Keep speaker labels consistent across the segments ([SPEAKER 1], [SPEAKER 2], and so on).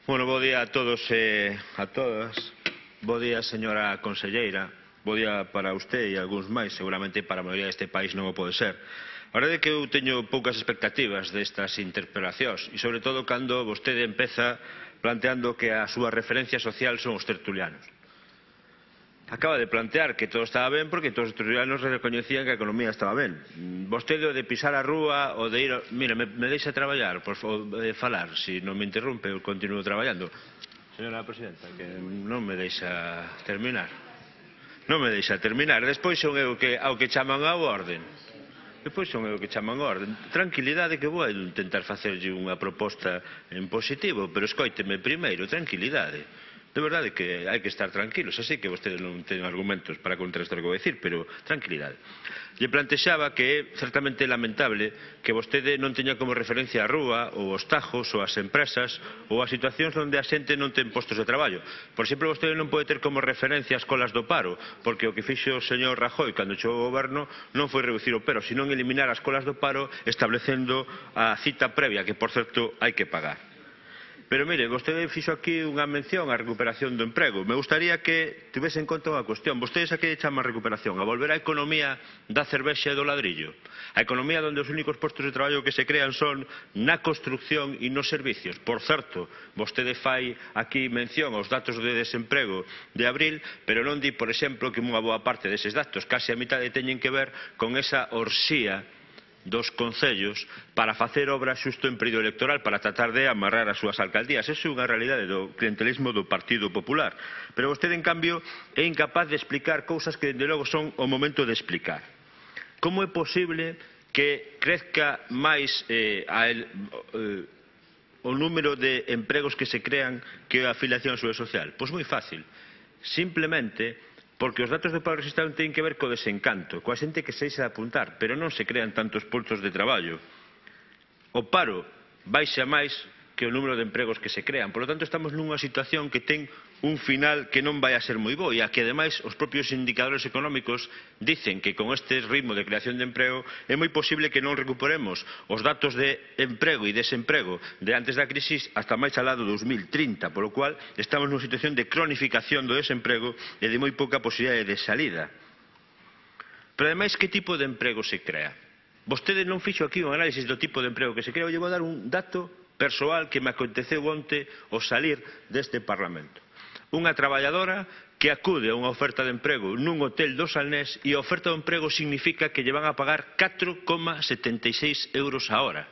[SPEAKER 1] Bueno, bo día a todos e a todas. Bo día, señora conselleira. Bo día para usted e algúns máis. Seguramente para a maioría deste país non o pode ser. A verdade é que eu teño poucas expectativas destas interpelacións e, sobre todo, cando vostede empeza planteando que a súa referencia social son os tertulianos. Acaba de plantear que todo estaba ben porque todos os tertulianos recoñecían que a economía estaba ben. Vostede o de pisar a rúa, o de ir... Mira, me deixa traballar, por favor, de falar. Se non me interrompe, eu continuo traballando. Señora Presidenta, que non me deixa terminar. Non me deixa terminar. Despois son eu que ao que chaman ao orden. Depois son eu que chaman ao orden. Tranquilidade, que vou intentar facerlle unha proposta en positivo, pero escóiteme primeiro, tranquilidade. De verdade que hai que estar tranquilos. Así que vostedes non teñen argumentos para contrastar o que vou dicir, pero tranquilidade. Lle plantexaba que é certamente lamentable que vostede non teña como referencia a rúa, ou os tajos, ou as empresas, ou as situacións onde a xente non ten postos de traballo. Por exemplo, vostede non pode ter como referencia as colas do paro, porque o que fixo o señor Rajoy cando chegou ao goberno non foi reducir o paro, senón eliminar as colas do paro establecendo a cita previa, que por certo hai que pagar. Pero mire, vostede fixo aquí unha mención á recuperación do emprego. Me gustaría que tivese en conta unha cuestión. Vostedes a que chaman recuperación? A volver á economía da cervexa e do ladrillo? A economía onde os únicos postos de traballo que se crean son na construcción e nos servicios. Por certo, vostede fai aquí mención aos datos de desemprego de abril, pero non di, por exemplo, que unha boa parte deses datos, case a mitad, teñen que ver con esa orsía dos concellos para facer obras xusto en período electoral para tratar de amarrar as súas alcaldías. Eso é unha realidade do clientelismo do Partido Popular. Pero vostede, en cambio, é incapaz de explicar cousas que, dende logo, son o momento de explicar. Como é posible que crezca máis o número de empregos que se crean que a afiliación á Seguridade Social? Pois moi fácil. Simplemente porque os datos do paro rexistrado teñen que ver co desencanto, coa xente que se deixa de apuntar, pero non se crean tantos postos de traballo. O paro baixa máis que o número de empregos que se crean. Por lo tanto, estamos nunha situación que ten un final que non vai a ser moi bo e a que, ademais, os propios indicadores económicos dicen que con este ritmo de creación de emprego é moi posible que non recuperemos os datos de emprego e desemprego de antes da crisis hasta máis alá do 2030, polo cual estamos nunha situación de cronificación do desemprego e de moi pouca posibilidade de salida. Pero, ademais, que tipo de emprego se crea? Vostede non fixo aquí un análisis do tipo de emprego que se crea. Eu vou dar un dato persoal que me aconteceu onte ao salir deste Parlamento. Unha traballadora que acude a unha oferta de emprego nun hotel do Salnés e a oferta de emprego significa que lle van a pagar 4,76 euros a hora.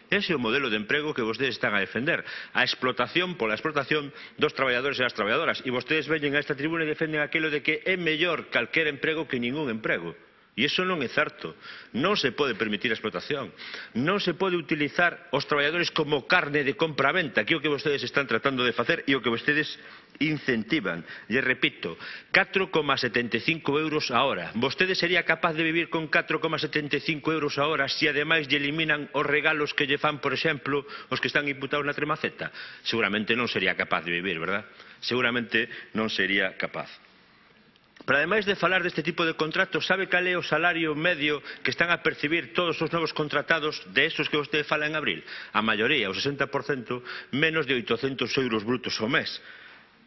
[SPEAKER 1] Ese é o modelo de emprego que vostedes están a defender. A explotación pola explotación dos traballadores e das traballadoras. E vostedes veñen a esta tribuna e defenden aquilo de que é mellor calquer emprego que ningún emprego. E iso non é certo. Non se pode permitir a explotación. Non se pode utilizar os traballadores como carne de compra-venta, que é o que vostedes están tratando de facer e o que vostedes incentivan. E repito, 4,75 euros a hora. Vostede sería capaz de vivir con 4,75 euros a hora se ademais lle eliminan os regalos que lle fan, por exemplo, os que están imputados na Tremaceta? Seguramente non sería capaz de vivir, verdad? Seguramente non sería capaz. Pero, ademais de falar deste tipo de contratos, sabe cal é o salario medio que están a percibir todos os novos contratados de esos que vostede fala en abril? A maioría, o 60%, menos de 800 euros brutos ao mes.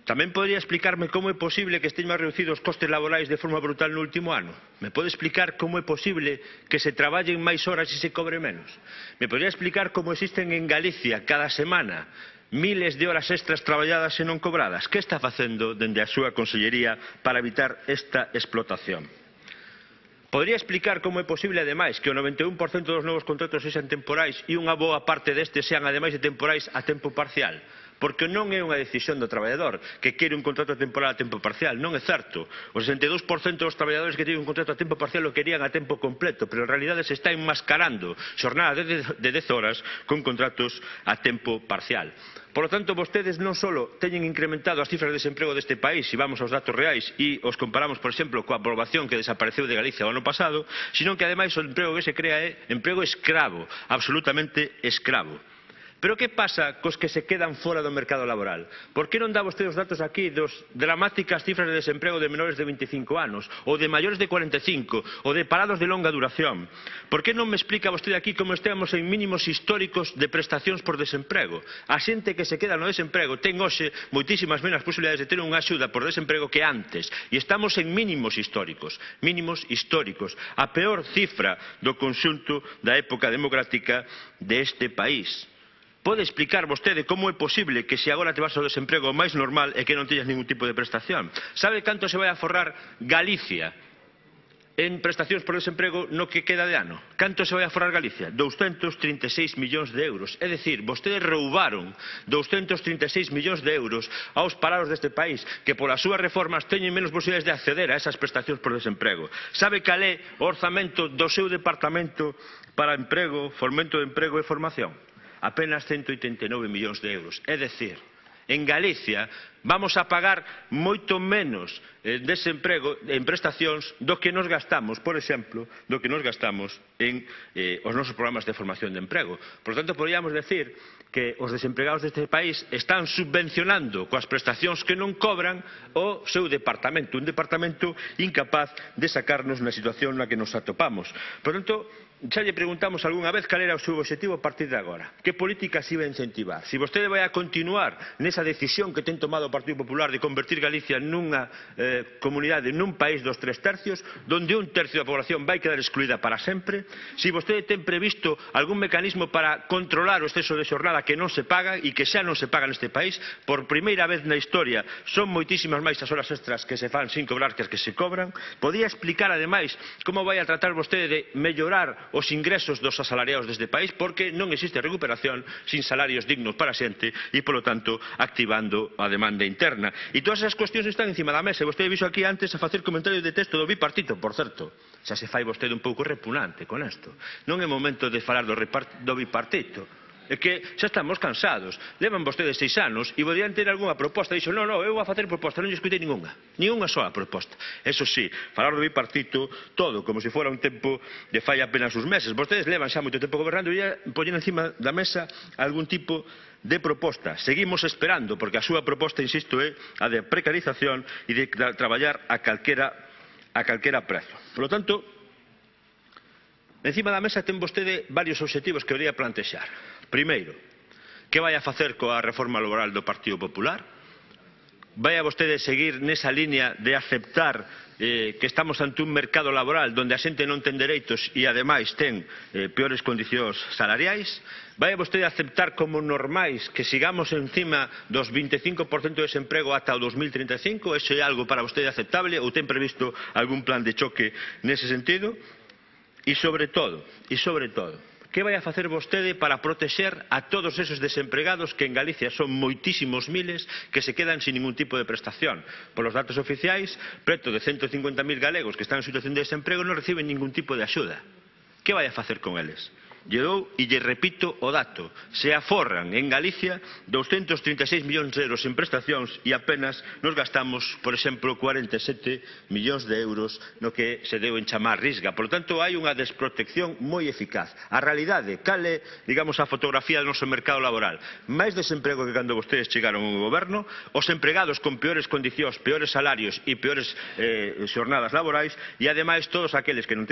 [SPEAKER 1] Tamén podría explicarme como é posible que esteñan reducidos os costes laborais de forma brutal no último ano? Me pode explicar como é posible que se traballen máis horas e se cobre menos? Me podría explicar como existen en Galicia cada semana miles de horas extras traballadas e non cobradas? Que está facendo dende a súa consellería para evitar esta explotación? Podría explicar como é posible, ademais, que o 91% dos novos contratos sexan temporais e unha boa parte destes sean, ademais de temporais, a tempo parcial? Porque non é unha decisión do traballador que quere un contrato temporal a tempo parcial, non é certo. O 62% dos traballadores que teñen un contrato a tempo parcial o querían a tempo completo, pero en realidade se está enmascarando xornadas de 10 horas con contratos a tempo parcial. Por lo tanto, vostedes non só teñen incrementado as cifras de desemprego deste país, se vamos aos datos reais e os comparamos, por exemplo, coa poboación que desapareceu de Galicia o ano pasado, sino que, ademais, o emprego que se crea é emprego escravo, absolutamente escravo. Pero que pasa cos que se quedan fora do mercado laboral? Por que non dá vostede os datos aquí dos dramáticas cifras de desemprego de menores de 25 anos, ou de maiores de 45, ou de parados de longa duración? Por que non me explica vostede aquí como estamos en mínimos históricos de prestacións por desemprego? A xente que se queda no desemprego ten hoxe moitísimas menos posibilidades de ter unha axuda por desemprego que antes, e estamos en mínimos históricos, a peor cifra do conxunto da época democrática deste país. Pode explicar vostede como é posible que se agora te vas ao desemprego máis normal e que non teñas ningún tipo de prestación? Sabe canto se vai a forrar Galicia en prestacións por desemprego no que queda de ano? Canto se vai a forrar Galicia? 236 millóns de euros. É dicir, vostedes roubaron 236 millóns de euros aos parados deste país, que polas súas reformas teñen menos posibilidades de acceder a esas prestacións por desemprego. Sabe cal é o orzamento do seu departamento para emprego, fomento de emprego e formación? Apenas 189 millóns de euros. É dicir, en Galicia vamos a pagar moito menos desemprego en prestacións do que nos gastamos, por exemplo, do que nos gastamos en os nosos programas de formación de emprego. Por tanto, poderíamos decir que os desempregados deste país están subvencionando coas prestacións que non cobran o seu departamento, un departamento incapaz de sacarnos na situación na que nos atopamos. Por tanto, xa lle preguntamos algunha vez cal era o seu objetivo a partir de agora. Que políticas iba a incentivar? Se vostede vai a continuar nesa decisión que ten tomado o Partido Popular de convertir Galicia nunha comunidade, nun país dos 3/3, donde un tercio da población vai quedar excluída para sempre, se vostede ten previsto algún mecanismo para controlar o exceso de xornada que non se paga e que xa non se paga neste país, por primeira vez na historia son moitísimas máis as horas extras que se fan sin cobrar que as que se cobran. Podía explicar ademais como vai a tratar vostede de mellorar os ingresos dos asalariados deste país, porque non existe recuperación sin salarios dignos para a xente e, polo tanto, activando a demanda interna. E todas esas cuestións están encima da mesa. E vostede visto aquí antes a facer comentarios de texto do bipartito, por certo. Xa se fai vostede un pouco repugnante con isto. Non é momento de falar do bipartito. É que xa estamos cansados. Levan vostedes 6 anos e podían ter algunha proposta. Dixo, non, eu vou a facer proposta. Non lle escutei ninguna sola proposta. Eso sí, falar do bipartito todo, como se fora un tempo de fai apenas uns meses. Vostedes levan xa moito tempo gobernando e poñen encima da mesa algún tipo de proposta. Seguimos esperando, porque a súa proposta, insisto, é a de precarización e de traballar a calquera prezo. Por lo tanto, encima da mesa ten vostede varios obxectivos que debería plantexar. Primeiro, que vai a facer coa reforma laboral do Partido Popular? Vai a vostede seguir nesa línea de aceptar que estamos ante un mercado laboral donde a xente non ten dereitos e ademais ten peores condicións salariais? Vai a vostede aceptar como normais que sigamos encima dos 25% de desemprego ata o 2035? Eso é algo para vostede aceptable ou ten previsto algún plan de choque nese sentido? E sobre todo, que vai a facer vostede para protexer a todos esos desempregados que en Galicia son moitísimos miles que se quedan sin ningún tipo de prestación? Por os datos oficiais, preto de 150.000 galegos que están en situación de desemprego non reciben ningún tipo de axuda. Que vai a facer con eles? Lle dou e lle repito o dato. Se aforran en Galicia 236 millóns de euros en prestacións e apenas nos gastamos, por exemplo, 47 millóns de euros no que se deu en chamar Risga. Por lo tanto, hai unha desprotección moi eficaz. A realidade, cal é, digamos, a fotografía do noso mercado laboral? Máis desemprego que cando vostedes chegaron ao goberno, os empregados con peores condicións, peores salarios e peores xornadas laborais e, ademais, todos aqueles que non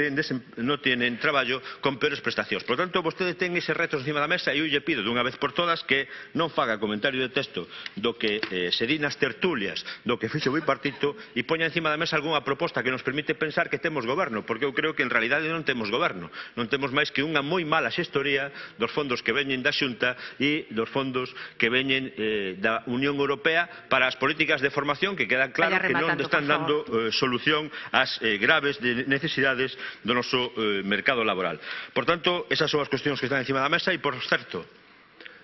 [SPEAKER 1] tenen traballo con peores prestacións. Por tanto, vostede ten eses retos encima da mesa e eu lle pido dunha vez por todas que non faga comentario de texto do que se di nas tertulias do que fixo o bipartito e poña encima da mesa algunha proposta que nos permite pensar que temos goberno, porque eu creo que en realidade non temos goberno, non temos máis que unha moi mala xestoría dos fondos que veñen da Xunta e dos fondos que veñen da Unión Europea para as políticas de formación que quedan claro que non están dando solución ás graves necesidades do noso mercado laboral. Por tanto, esas son as cuestións que están encima da mesa e, por certo,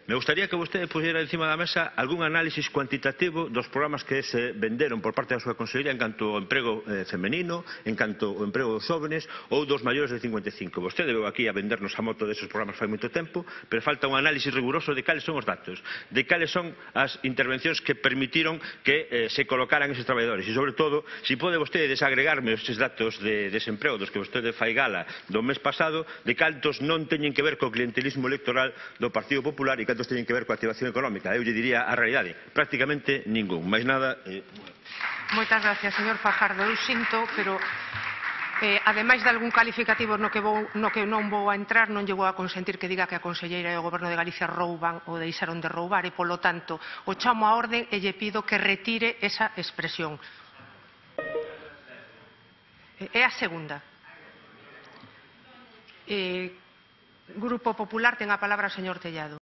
[SPEAKER 1] me gustaría que vostede puxera encima da mesa algún análisis cuantitativo dos programas que se venderon por parte da súa consellería en canto ao emprego femenino, en canto ao emprego dos jóvenes ou dos maiores de 55. Vostede veu aquí a vendernos a moto desos programas fai moito tempo, pero falta un análisis riguroso de cales son os datos, de cales son as intervencións que permitiron que se colocaran eses traballadores e, sobre todo, se pode vostede desagregarme estes datos de desemprego dos que vostede fai gala do mes pasado, de cantos non teñen que ver co clientelismo electoral do Partido Popular e cantos teñen que ver coa activación económica. Eu lle diría a realidade, prácticamente ningún. Máis nada...
[SPEAKER 2] Moitas gracias, señor Fajardo. Eu sinto, pero ademais de algún calificativo no que non vou a entrar, non lle vou a consentir que diga que a conselleira e o Goberno de Galicia rouban ou deixaron de roubar e, polo tanto, o chamo á orde e lle pido que retire esa expresión. É a segunda. Grupo Popular, ten a palabra o señor Tellado.